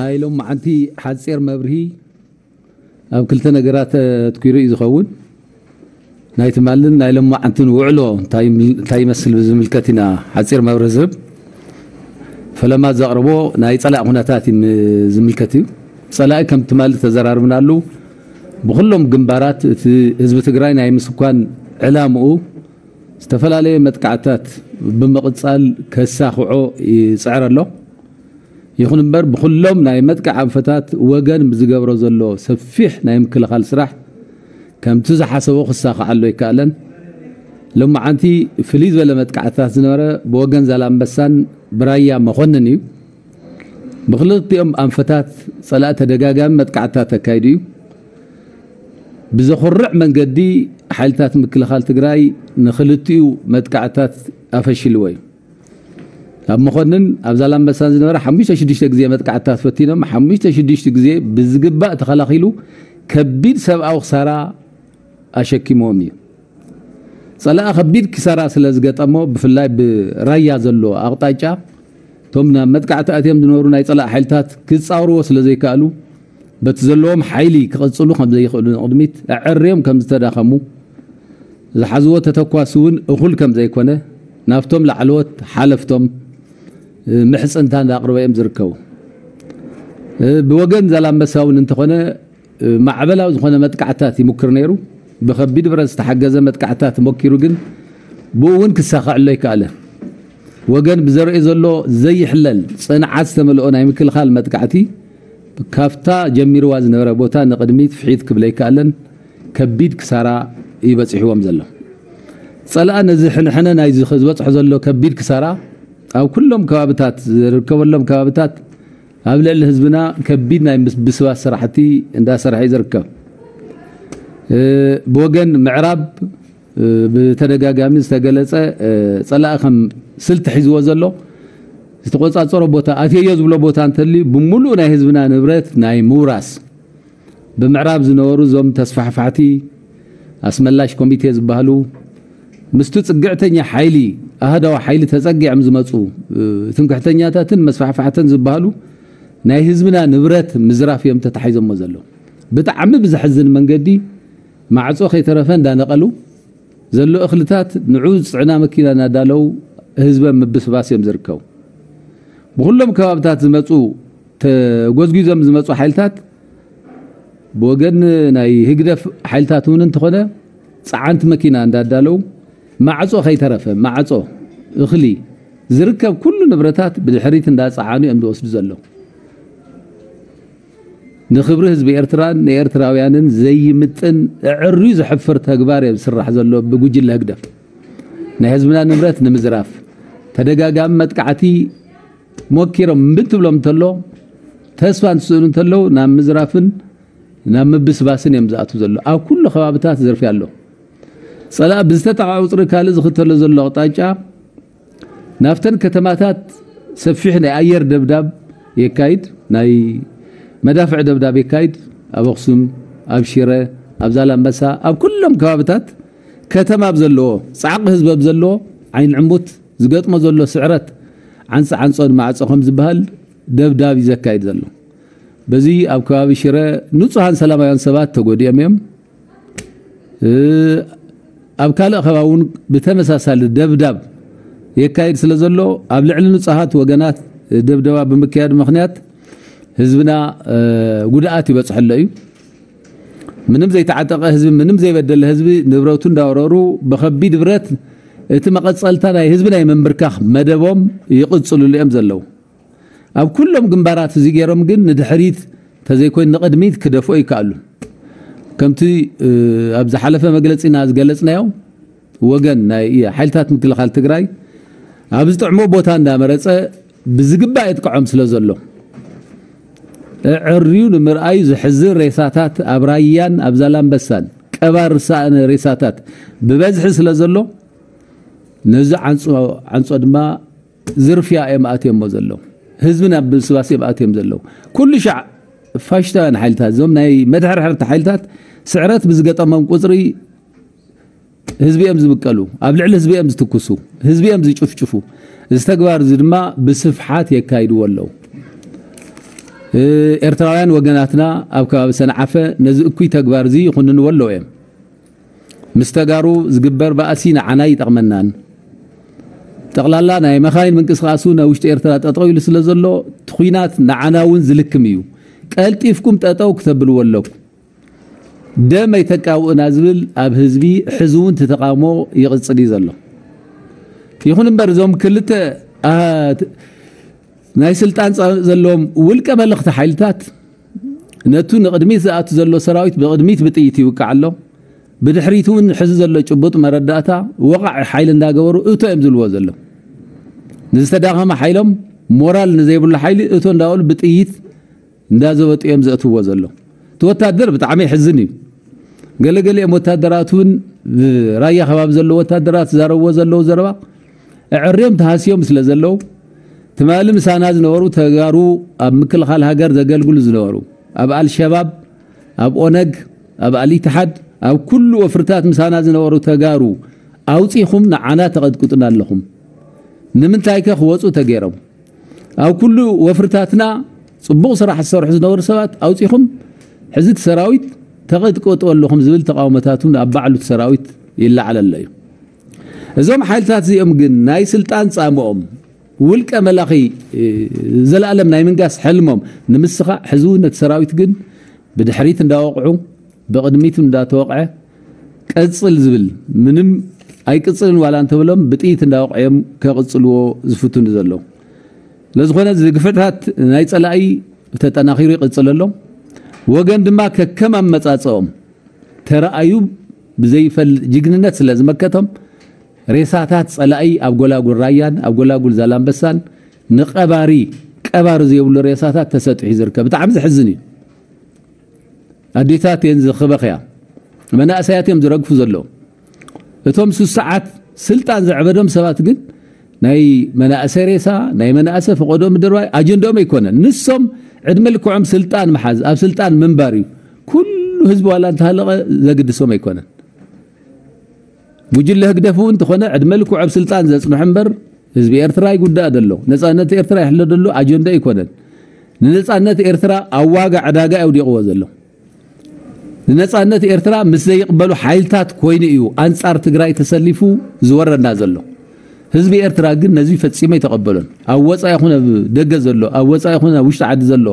ናይ ሎማዓንቲ ሓፂር መብርሂ ኣብ ክልተ ነገራት ኣትኪሩ እዩ ዝኸውን። ናይ ትማልን ናይ ሎማዓንትን ውዕሎ እንታይ ይም-፣ እንታይ ይመስል ብዝምልከት ኢና ሓፂር መብርሂ ዝህብ። ፈለማ ዘቕርቦ ናይ ፀላእ ኩነታት እዩ ዝምልከት እዩ። ፀላኢ ከም ትማሊ ተዘራርብናሉ፣ ብኩሎም ግንባራት እቲ ህዝቢ ትግራይ ናይ ምስኳን ዕላምኡ ዝተፈላለየ መጥቃዕትታት ብምቕጻል ከሳኽዖ ይጽዕር ኣሎ። ይኹን እምበር፣ ብኹሎም ናይ መጥቃዕ ኣንፈታት ወገን ብዝገብሮ ዘሎ ሰፊሕ ናይ ምክልኻል ስራሕ ከምቲ ዝሓሰቦ ክሳኽዓሉ ኣይከኣለን። ሎማዓንቲ ፍልይ ዝበለ መጥቃዕትታት ዝነበረ ብወገን ዛላምበሳን ብራያ መኮንን እዩ። ብክልቲኦም ኣንፈታት ጸላኢ ተደጋጋሚ መጥቃዕትታት ኣካይዱ እዩ። ብዘኹርዕ መንገዲ ሓይልታት ምክልኻል ትግራይ ንክልቲኡ መጥቃዕትታት ኣፈሽልዎ እዩ። ኣብ መኮንን ኣብ ዛላምበሳን ዝነበረ ሓሙሽተ ሽዱሽተ ግዜ መጥቃዕትታት ፈቲኖም፣ ሓሙሽተ ሽዱሽተ ግዜ ብዝግባእ ተኸላኺሉ ከቢድ ሰብኣዊ ክሳራ ኣሸኪምዎም እዩ። ጸላኢ ከቢድ ክሳራ ስለ ዝገጠሞ፣ ብፍላይ ብራያ ዘሎ ኣቕጣጫ እቶም ናብ መጥቃዕቲ ኣትዮም ዝነበሩ ናይ ጸላኢ ሓይልታት ክጻወርዎ ስለ ዘይከኣሉ፣ በቲ ዘለዎም ሓይሊ ክቕጽሉ ከም ዘይኽእሉ ንቕድሚት ኣዐርዮም ከም ዝተዳኸሙ፣ ዝሓዝዎ ተተኳሲ እውን እኹል ከም ዘይኮነ ናብቶም ላዕለዎት ሓለፍቶም፣ እ፣ ምሕጽንታ እንዳቕርበ እዮም ዝርከቡ። እ፣ ብወገን ዛላምበሳ እውን እንተኾነ፣ እ፣ ማዕበላዊ ዝኾነ መጥቃዕታት ይሙክር ነይሩ። ብኸቢድ ብረት ዝተሓገዘ መጥቃዕታት ሞኪሩ፣ ግን ብኡ እውን ክሳኸዐሉ ኣይከኣለን። ወገን ብዘርእዮ ዘሎ ዘይሕለል ጽንዓት ዝተመልኦ ናይ ምክልኻል መጥቃዕቲ፣ ካብታ ጀሚርዋ ዝነበረ ቦታ ንቕድሚት ፍሒት ክብል ኣይከኣለን። ከቢድ ክሳራ እዩ በጺሕዎም ዘሎ። ጸላኢ ነዚ ሕንሕነ ናይዚ ዝበጽሖ ዘሎ ከቢድ ክሳራ ኣብ ኩሎም ከባብታት፣ ዝርከበሎም ከባብታት ኣብ ልዕሊ ህዝብና ከቢድ ናይ ምስ-፣ ብስባት ስራሕቲ እንዳሰርሐ እዩ ዝርከብ። እ፣ ብወገን ምዕራብ፣ እ፣ ብተደጋጋሚ ዝተገለጸ፣ እ፣ ጸላኢ ከም ስልቲ ሒዝዎ ዘሎ ዝተቆጻጸሮ ቦታ፣ ኣትየዮ ዝብሎ ቦታ እንተልዩ፣ ብምሉእ ናይ ህዝብና ንብረት ናይ ምውራስ፣ ብምዕራብ ዝነበሩ እዞም ተስፋሕፋሕቲ ኣስመላሽ ኮሚቴ ዝበሃሉ፣ ምስቲ ጽግዕተኛ ሓይሊ፣ ኣሃዳዊ ሓይሊ ተጸጊዖም ዝመጹ፣ እ፣ ትምክሕተኛታትን መስፋሕፋሕትን ዝበሃሉ ናይ ህዝብና ንብረት ምዝራፍ እዮም ተታሒዞሞ ዘለዉ። ብጣዕሚ ብዘሕዝን መንገዲ፣ ማዕጾ ከይተረፈ እንዳነቐሉ፣ ዘሎ እኽልታት ንዑ ዝጽዕና መኪና እናዳለዉ ህዝበ ምብስባስ እዮም ዝርከቡ። ብኹሎም ከባብታት ዝመጹ፣ ተጎዝጒዞም ዝመጹ ሓይልታት፣ ብወገን ናይ ህግደፍ ሓይልታት እውን እንተኾነ፣ ጸዓንቲ መኪና እንዳዳለዉ፣ ማዕጾ ከይተረፈ፣ ማዕጾ፣ እኽሊ፣ ዝርከብ ኩሉ ንብረታት ብድሕሪት እንዳጸዓኑ እዮም ዝወስዱ ዘለዉ። ንክብሪ ህዝቢ ኤርትራን ንኤርትራውያንን ዘይምጥን፣ ኣዐርዩ ዘሕፍር ተግባር እዩ ዝስራሕ ዘሎ ብጉጅለ ህግደፍ። ናይ ህዝብና ንብረት ንምዝራፍ ተደጋጋሚ መጥቃዕቲ ሞኪሮም እምቢ ትብሎም እንተሎ፣ ተስፋ እንትስእኑ እንተለዉ፣ ናብ ምዝራፍን ናብ ምብስባስን እዮም ዝኣትዉ ዘለዉ። ኣብ ኩሉ ከባብታት ዝርፍያ ኣሎ። ጸላኢ ብዝተጠቕዐ ቁጽሪ ካልእ ዝኽተሎ ዘሎ ኣቕጣጫ፣ ናብተን ከተማታት ሰፊሕ ናይ ኣየር ደብዳብ የካይድ፣ ናይ መዳፍዕ ደብዳብ የካይድ። ኣብ ኣኽሱም፣ ኣብ ሽረ፣ ኣብ ዛላምበሳ፣ ኣብ ኩሎም ከባብታት ከተማ ኣብ ዘለዎ፣ ጻዕቂ ህዝቢ ኣብ ዘለዎ፣ ዓይኒ ዕሙት ዝገጥሞ ዘሎ ስዕረት፣ ዓንጸ ዓንጾ ንማዕጾ ከም ዝበሃል፣ ደብዳብ እዩ ዘካይድ ዘሎ። በዚ ኣብ ከባቢ ሽረ ንጹሃን ሰላማውያን ሰባት ተጎዲኦም እዮም። እ፣ ኣብ ካልእ ከባቢ እውን ብተመሳሳሊ ደብዳብ የካይድ ስለ ዘሎ፣ ኣብ ልዕሊ ንጹሃት ወገናት ደብደባ ብምክያድ ምኽንያት ህዝብና፣ እ፣ ጉድኣት ይበጽሐሎ እዩ። ምንም ዘይተዓጠቐ ህዝቢ፣ ምንም ዘይበደለ ህዝቢ ንብረቱ እንዳወረሩ ብኸቢድ ብረት እቲ መቐጸልታ ናይ ህዝቢ ናይ ምንብርካኽ መደቦም ይቕጽልሉ እዮም ዘለዉ። ኣብ ኩሎም ግንባራት እዚ ገይሮም ግን ንድሕሪት ተዘይኮይኑ ንቕድሚት ክደፍኦ ይከኣሉ። ከምቲ፣ እ፣ ኣብ ዝሓለፈ መግለጺና ዝገለጽናዮ፣ ወገን ናይ ሓይልታት ምክልኻል ትግራይ ኣብ ዝጥዕሞ ቦታ እንዳመረጸ ብዝግባእ የጥቅዖም ስለ ዘሎ፣ ኣዐርዩ ንምርኣዩ ዘሕዝን ሬሳታት ኣብ ራያን ኣብ ዛላምበሳን፣ ቀባር ዝሰኣነ ሬሳታት ብበዝሒ ስለ ዘሎ፣ ነዚ ዓንጾ፣ ዓንጾ ድማ ዝርፍያ እዮም ኣትዮሞ ዘለዉ። ህዝቢ ናብ ብስባስ እዮም ኣትዮም ዘለዉ። ኩሉ ሻዕ ፋሽስታውያን ሓይልታት፣ እዞም ናይ መድሕርሕርቲ ሓይልታት ስዕረት ብዝገጠሞም ቁጽሪ ህዝቢ እዮም ዝብቀሉ፣ ኣብ ልዕሊ ህዝቢ እዮም ዝትኩሱ፣ ህዝቢ እዮም ዝጭፍጭፉ። እዚ ተግባር እዚ ድማ ብስፍሓት የካይድዎ ኣለዉ። ኤርትራውያን ወገናትና ኣብ ከባቢ ሰንዓፈ ነዚ እኩይ ተግባር እዚ ይኹንንዎ ኣለዉ እዮም። ምስ ተጋሩ ዝግበር ባእሲ ንዓና ይጠቕመናን፣ ጠቕላላ ናይ መኻይን ምንቅስቓሱ ናብ ውሽጢ ኤርትራ ጠጠው ኢሉ ስለ ዘሎ፣ እቲ ኹናት ንዓና እውን ዝልክም እዩ። ቀልጢፍኩም ጠጠው ክተብልዎ ኣለኩም። ደም ኣይተቃውእና ዝብል ኣብ ህዝቢ ሕዚ እውን እቲ ተቃውሞ ይቕጽል እዩ ዘሎ። ይኹን እምበር እዞም ክልተ፣ ኣ፣ ናይ ስልጣን ጻ-፣ ዘለዎም ውልቀ መለኽቲ ሓይልታት ነቱ ንቕድሚት ዝኣቱ ዘሎ ሰራዊት ብቕድሚት ብጥይት ይውቃዕ ኣሎ። ብድሕሪቱ እውን ሕዚ ዘሎ ጭቡጥ መረዳእታ ወቓዒ ሓይሊ እንዳገበሩ እቶ እዮም ዝብልዎ ዘሎ። ንዝተዳኸመ ሓይሎም ሞራል ንዘይብሉ ሓይሊ እቶ እንዳበሉ ብጥይት እንዳዘበጡ እዮም ዘእትዎ ዘሎ። እቲ ወታደር ብጣዕሚ ይሕዝን እዩ። ገለገሊኦም ወታደራት እውን ብራያ ከባቢ ዘለዉ ወታደራት ዝዛረብዎ ዘለዉ ዘረባ ኣዕርዮም ተሃስዮም ስለ ዘለዉ ትማሊ ምሳና ዝነበሩ ተጋሩ ኣብ ምክልኻል ሃገር ዘገልግሉ ዝነበሩ ኣብ ኣልሸባብ፣ ኣብ ኦነግ፣ ኣብ ኣልኢትሓድ፣ ኣብ ኩሉ ወፍርታት ምሳና ዝነበሩ ተጋሩ ኣውጺኹም ንዓና ተቐጥቅጡና ኣለኹም። ንምንታይ ከ ክወጹ ተገይሮም? ኣብ ኩሉ ወፍርታትና ጽቡቕ ስራሕ ዝሰርሑ ዝነበሩ ሰባት ኣውጺኹም ሕዚ እቲ ሰራዊት ተቐጥቅጡ ኣለኹም ዝብል ተቃውሞታት እውን ኣብ ባዕሉ እቲ ሰራዊት ይለዓል ኣሎ እዩ። እዞም ሓይልታት እዚኦም ግን ናይ ስልጣን ጻምኦም ውልቀ መላኺ፣ እ፣ ዘላለም ናይ ምንጋስ ሕልሞም ንምስኻዕ ሕዚ እውን ነቲ ሰራዊት ግን ብድሕሪት እንዳወቕዑ ብቕድሚት እንዳተወቕዐ ቀጽል ዝብል ምንም ኣይቅጽልን ዋላ እንተብሎም ብጥይት እንዳወቕዑ እዮም ከቕጽልዎ ዝፍትኑ ዘለዉ። ስለዝኾነ እዚ ግፍዕታት ናይ ጸላኢ ተጠናኺሩ ይቕጽል ኣሎ። ወገን ድማ ከከም ኣመጻጽኦም ተረኣዩ ብዘይፈል ጅግንነት ስለ ዝመከቶም ሬሳታት ጸላኢ ኣብ ጎላጉል ራያን ኣብ ጎላጉል ዛላምበሳን ንቀባሪ ቀባሪ ዘይብሉ ሬሳታት ተሰጢሑ ዝርከብ። ብጣዕሚ ዘሕዝን እዩ። ኣዴታት እየን ዝኽበኽያ፣ መናእሰያት እዮም ዝረግፉ ዘለዉ። እቶም ሱስ ሰዓት ስልጣን ዘዕበዶም ሰባት ግን ናይ መናእሰ ሬሳ፣ ናይ መናእሰ ፈቐዶ ምድርባይ ኣጀንዳኦም ኣይኮነን። ንሶም ዕድመ ልክዖም ስልጣን ምሓዝ፣ ኣብ ስልጣን ምንባር እዩ። ኩሉ ህዝቢ ዋላ እንተሃለቐ ዘግድሶም ኣይኮነን። ጉጅለ ህግደፍ እውን እንተኾነ ዕድመ ልክዑ ኣብ ስልጣን ዘጽንሑ እምበር ህዝቢ ኤርትራ ይጉዳእ ዘሎ፣ ነጻነት ኤርትራ ይሕሎ ዘሎ ኣጀንዳ ኣይኮነን። ንነጻነት ኤርትራ ኣብ ዋጋ ዕዳጋ ኣውዲቕዎ ዘሎ። ንነጻነት ኤርትራ ምስ ዘይቕበሉ ሓይልታት ኮይኑ እዩ ኣንጻር ትግራይ ተሰሊፉ ዝወረና ዘሎ። ህዝቢ ኤርትራ ግን ነዚ ፈጺሙ ኣይተቐበሎን። ኣብ ወጻኢ ይኹን ኣብ ደገ ዘሎ፣ ኣብ ወጻኢ ይኹን ኣብ ውሽጢ ዓዲ ዘሎ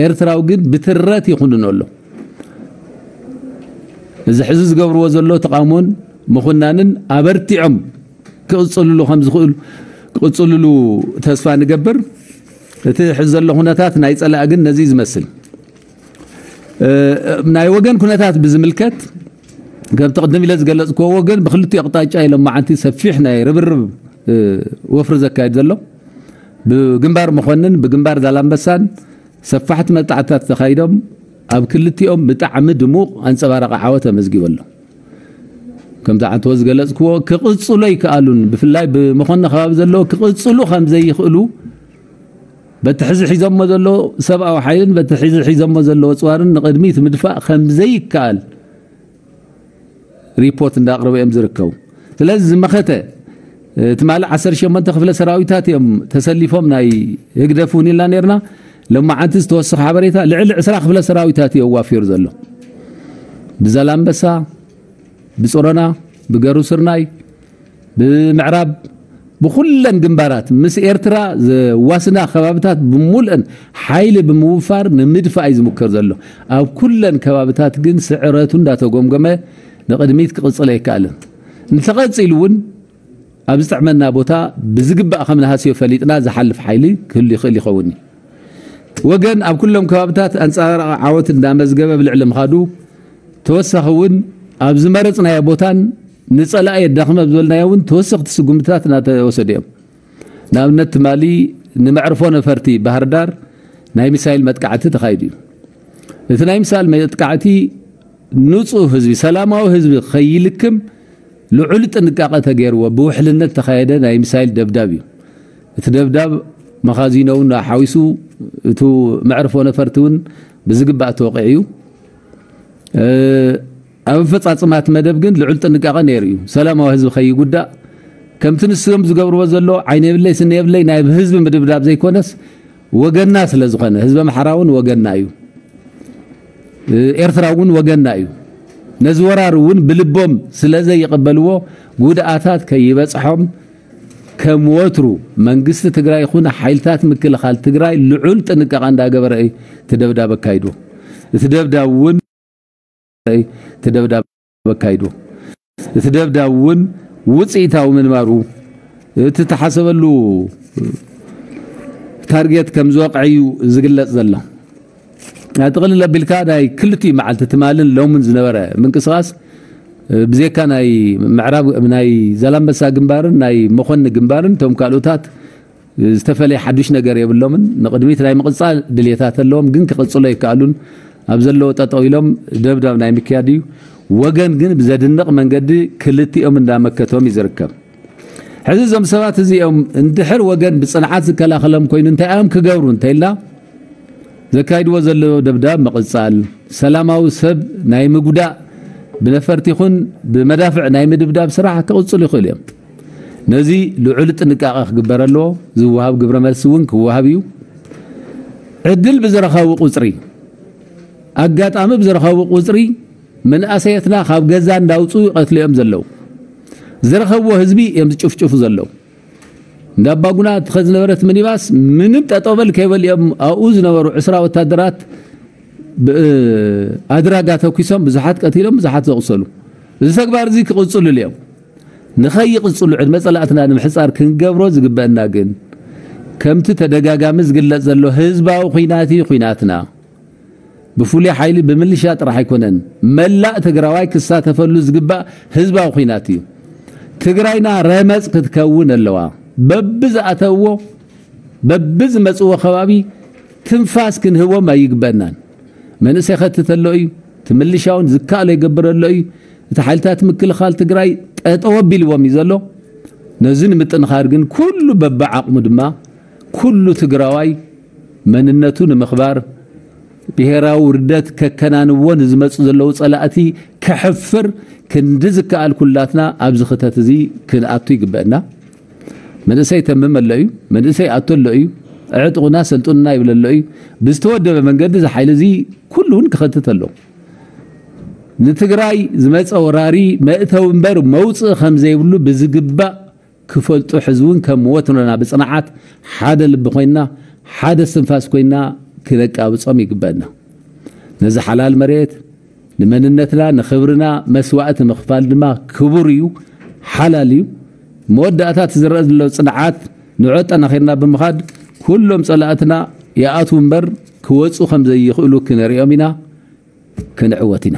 ኤርትራዊ ግን ብትረት ይኹንኖ ኣሎ። እዚ ሕዚ ዝገብርዎ ዘሎ ተቓውሞን ምኹናንን ኣበርቲዖም ክቕጽልሉ ከም ዝኽእሉ፣ ክቕጽልሉ ተስፋ ንገብር። እቲ ሕዚ ዘሎ ኩነታት ናይ ጸላኢ ግን ነዚ እዩ ዝመስል። እ፣ ናይ ወገን ኩነታት ብዝምልከት፣ ከምቲ ቅድም ኢለ ዝገለጽክዎ፣ ወገን ብክልቲኡ ኣቕጣጫ እዩ ሎማዓንቲ ሰፊሕ ናይ ርብርብ፣ እ፣ ወፍሪ ዘካየድ ዘሎ። ብግንባር መኮንን፣ ብግንባር ዛላምበሳን ሰፋሕቲ መጣዕታት ተኻይዶም ኣብ ክልቲኦም ብጣዕሚ ድሙቕ ኣንጸባራቒ ዓወት ተመዝጊቡ ኣሎ። ከምቲ ዓንተዎ ዝገለጽክዎ፣ ክቕጽሉ ኣይከኣሉን። ብፍላይ ብመኾኒ ከባቢ ዘለዉ ክቕጽሉ ከም ዘይኽእሉ፣ በቲ ሕዚ ሒዞሞ ዘሎ ሰብኣዊ ሓይልን በቲ ሕዚ ሒዞሞ ዘለዎ ጽዋርን ንቕድሚት ምድፋእ ከም ዘይከኣል ሪፖርት እንዳቕረቡ እዮም ዝርከቡ። ስለዚ ዝመኸተ፣ እ፣ ትማሊ ዓሰርተ ሸሞንተ ክፍለ ሰራዊታት እዮም ተሰሊፎም ናይ ህግደፍ እውን ኢልና ነርና። ሎማዓንቲ ዝተወሰኸ ሓበሬታ ልዕሊ ዕስራ ክፍለ ሰራዊታት እዩ ኣዋፊሩ ዘሎ። ብዛላምበሳ፣ ብጽሮና፣ ብገሩ ስርናይ፣ ብምዕራብ፣ ብኹለን ግንባራት ምስ ኤርትራ ዘዋስና ከባብታት ብምሉእን ሓይሊ ብምውፋር ንምድፋእ እዩ ዝሙከር ዘሎ። ኣብ ኩለን ከባብታት ግን ስዕረቱ እንዳተጎምጎመ ንቕድሚት ክቕጽል ኣይከኣልን። እንተቐጺሉ እውን ኣብ ዝጥዕመና ቦታ ብዝግባእ ከም ንሃስዮ ፈሊጥና ዝሓልፍ ሓይሊ ክህሉ ይኽእል ይኸውን እዩ። ወገን ኣብ ኩሎም ከባብታት ኣንጻራዊ ዓወት እንዳመዝገበ ብልዕሊ ምኻዱ፣ ተወሳኺ እውን ኣብ ዝመረጽናዮ ቦታን ንጸላኢ የዳኽም ኣብ ዝበልናዮ እውን ተወሰኽቲ ስጉምትታት እናተወሰዱ እዮም። ንኣብነት ትማሊ ንመዕርፎ ነፈርቲ ባህር ዳር ናይ ሚሳይል መጥቃዕቲ ተኻይዱ እዩ። እቲ ናይ ሚሳይል መጥቃዕቲ ንጹህ ህዝቢ፣ ሰላማዊ ህዝቢ ከይልክም ልዑል ጥንቃቐ ተገይርዎ ብውሕልነት ተኻየደ ናይ ሚሳይል ደብዳብ እዩ። እቲ ደብዳብ መኻዚኖ እውን ሓዊሱ፣ እቱ መዕርፎ ነፈርቲ እውን ብዝግባእ ተወቒዑ እዩ። እ፣ ኣብ ኣፈጻጽማ እቲ መደብ ግን ልዑል ጥንቃቐ ነይሩ እዩ። ሰላማዊ ህዝቢ ከይጉዳእ፣ ከምቲ ንሶም ዝገብርዎ ዘሎ ዓይነ የብለይ ስኒ የብለይ ናይ ህዝቢ ምድብዳብ ዘይኮነስ፣ ወገና ስለ ዝኾነ፣ ህዝቢ ኣምሓራ እውን ወገና እዩ። ኤርትራ እውን ወገና እዩ። ነዚ ወራር እውን ብልቦም ስለ ዘይቕበልዎ፣ ጉድኣታት ከይበጽሖም፣ ከም ወትሩ መንግስቲ ትግራይ ይኹን ሓይልታት ምክልኻል ትግራይ ልዑል ጥንቃቐ እንዳገበረ እዩ እቲ ደብዳብ ኣካይዱ። እቲ ደብዳብ እውን እቲ ደብዳብ ኣካይዱ። እቲ ደብዳብ እውን ውፅኢታዊ ምንባሩ፣ እቲ ተሓሰበሉ ታርጌት ከም ዝወቕዐ እዩ ዝግለጽ ዘሎ። ጥቕልል ኣቢልካ ናይ ክልቲኡ መዓልቲ ትማልን ሎምን ዝነበረ ምንቅስቓስ፣ ብዜካ ናይ ምዕራብ፣ ናይ ዛላምበሳ ግንባርን ናይ መኾኒ ግንባርን፣ እቶም ካልኦታት ዝተፈለየ ሓዱሽ ነገር የብሎምን። ንቕድሚት ናይ ምቕጻል ድልየታት ኣለዎም፣ ግን ክቕጽሎ ኣይከኣሉን። ኣብ ዘለዎ ጠጠው ኢሎም ደብዳብ ናይ ምክያድ እዩ። ወገን ግን ብዘድንቕ መንገዲ ክልቲኦም እንዳመከቶም እዩ ዝርከብ። ሕዚ እዞም ሰባት እዚኦም እንድሕር ወገን ብጽንዓት ዝከላኸሎም ኮይኑ እንታይ እዮም ክገብሩ እንተኢልና፣ ዘካይድዎ ዘለዉ ደብዳብ ምቕጻል፣ ሰላማዊ ሰብ ናይ ምጉዳእ፣ ብነፈርቲ ይኹን ብመዳፍዕ ናይ ምድብዳብ ስራሕ ክቕጽሉ ይኽእሉ እዮም። ነዚ ልዑል ጥንቃቐ ክግበር ኣለዎ። ዝወሃብ ግብረ መልሲ እውን ክወሃብ እዩ። ዕድል ብዝረኸቡ ቁጽሪ፣ ኣጋጣሚ ብዝረኸቡ ቁጽሪ፣ መንእሰያትና ካብ ገዛ እንዳውፅኡ ይቐትሉ እዮም ዘለዉ። ዝረኸብዎ ህዝቢ እዮም ዝጭፍጭፉ ዘለዉ። እንዳ ኣባጉና ትኸድ ዝነበረት ሚኒባስ ምንም ጠጠው በል ከይበሉ እዮም ኣብኡ ዝነበሩ ዕስራ ወታደራት ብ-፣ ኣድራጋ ተኩሶም ብዙሓት ቀቲሎም፣ ብዙሓት ዘቑሰሉ። እዚ ተግባር እዚ ክቕፅሉ እዮም። ንኸይቕፅሉ ዕድመ ፀላእትና ንምሕፃር ክንገብሮ ዝግበአና ግን፣ ከምቲ ተደጋጋሚ ዝግለጽ ዘሎ ህዝባዊ ኹናት እዩ ኹናትና። ብፍሉይ ሓይሊ ብምልሻ ጥራሕ ኣይኮነን፣ መላእ ትግራዋይ ክሳተፈሉ ዝግባእ ህዝባዊ ኹናት እዩ። ትግራይና ረመጽ ክትከውን ኣለዋ። በብዝኣተውዎ፣ በብዝመጽዎ ከባቢ ትንፋስ ክንህቦም ኣይግበእናን። መንእሰይ ከትት ኣሎ እዩ፣ እቲ ምልሻ እውን ዝከኣሎ ይገብር ኣሎ እዩ። እቲ ሓይልታት ምክልኻል ትግራይ ጠጠው ኣቢልዎም እዩ ዘሎ። ነዚ ንምጥንኻር ግን ኩሉ በብዓቕሙ ድማ ኩሉ ትግራዋይ መንነቱ ንምኽባር፣ ብሄራዊ ውርደት ከከናንዎ ንዝመፁ ዘለዉ ፀላእቲ ከሕፍር ክንዲ ዝከኣል ኩላትና ኣብዚ ክተት እዚ ክንኣቱ ይግበአና። መንእሰይ ተምም ኣሎ እዩ፣ መንእሰይ ኣቶ ኣሎ እዩ፣ ዕጥቑና ሰልጡንና ይብል ኣሎ እዩ። ብዝተወደበ መንገዲ እዚ ሓይሊ እዚ ኩሉ እውን ክኸትት ኣሎ። ንትግራይ ዝመፀ ወራሪ መእተዊ እምበር መውፅኢ ከም ዘይብሉ ብዝግባእ ክፈልጡ፣ ሕዚ እውን ከም ወትሮና ብፅንዓት ሓደ ልቢ ኮይንና፣ ሓደ እስትንፋስ ኮይንና ክነቃብፆም ይግበአና። ነዚ ሓላል መሬት ንመንነትና ንኽብርና መስዋእቲ ምኽፋል ድማ ክቡር እዩ፣ ሓላል እዩ። መወዳእታ እቲ ዝረአ ዘሎ ፅንዓት ንዑ ኣጠናኺርና ብምኻድ ኩሎም ፀላእትና ይኣትዉ እምበር ክወፁ ከም ዘይኽእሉ ክነሪኦም ኢና፣ ክንዕወት ኢና።